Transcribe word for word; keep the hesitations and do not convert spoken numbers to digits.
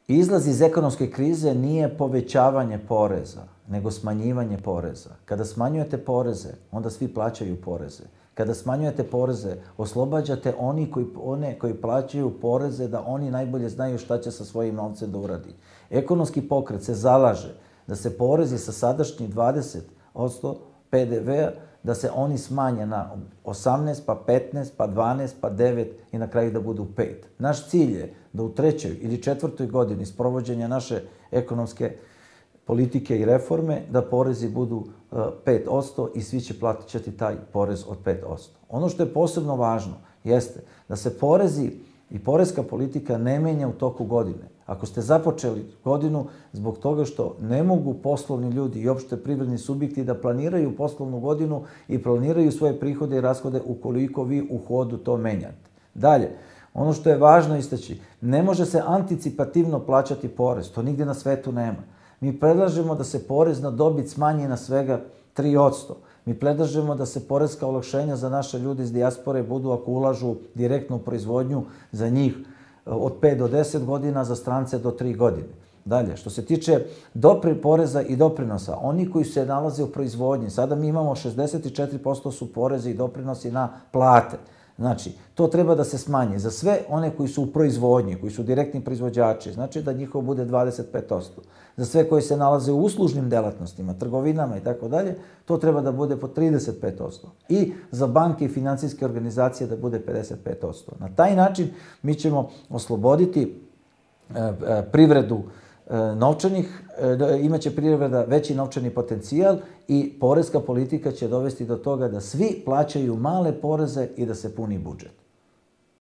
Izlaz iz ekonomske krize nije povećavanje poreza, nego smanjivanje poreza. Kada smanjujete poreze, onda svi plaćaju poreze. Kada smanjujete poreze, oslobađate oni koji, one koji plaćaju poreze da oni najbolje znaju šta će sa svojim novcem da uradi. Ekonomski pokret se zalaže da se porezi sa sadašnjih dvadeset posto pe de ve-a, da se oni smanje na osamnaest, pa petnaest, pa dvanaest, pa devet i na kraju da budu pet. Naš cilj je da u trećoj ili četvrtoj godini sprovođenja naše ekonomske politike i reforme, da porezi budu pet posto i svi će plaćati taj porez od pet posto. Ono što je posebno važno jeste da se porezi i poreska politika ne menja u toku godine. Ako ste započeli godinu zbog toga što ne mogu poslovni ljudi i opšte privredni subjekti da planiraju poslovnu godinu i planiraju svoje prihode i rashode ukoliko vi u hodu to menjate. Dalje, ono što je važno istaći, ne može se anticipativno plaćati porez, to nigdje na svetu nema. Mi predlažemo da se porez na dobit smanji na svega tri posto. Mi predlažemo da se poreska olakšenja za naše ljude iz dijaspore budu, ako ulažu direktnu proizvodnju, za njih od pet do deset godina, za strance do tri godine. Dalje, što se tiče dopri poreza i doprinosa, oni koji se nalaze u proizvodnji, sada mi imamo šezdeset četiri posto su porezi i doprinosi na plate. Znači, to treba da se smanji za sve one koji su u proizvodnji, koji su direktni proizvođači, znači da njihovo bude dvadeset pet posto. Za sve koji se nalaze u uslužnim delatnostima, trgovinama i tako dalje, to treba da bude po trideset pet posto. I za banke i financijske organizacije da bude pedeset pet posto. Na taj način mi ćemo osloboditi privredu novčanih, imaće privreda veći novčani potencijal i poreska politika će dovesti do toga da svi plaćaju male poreze i da se puni budžet.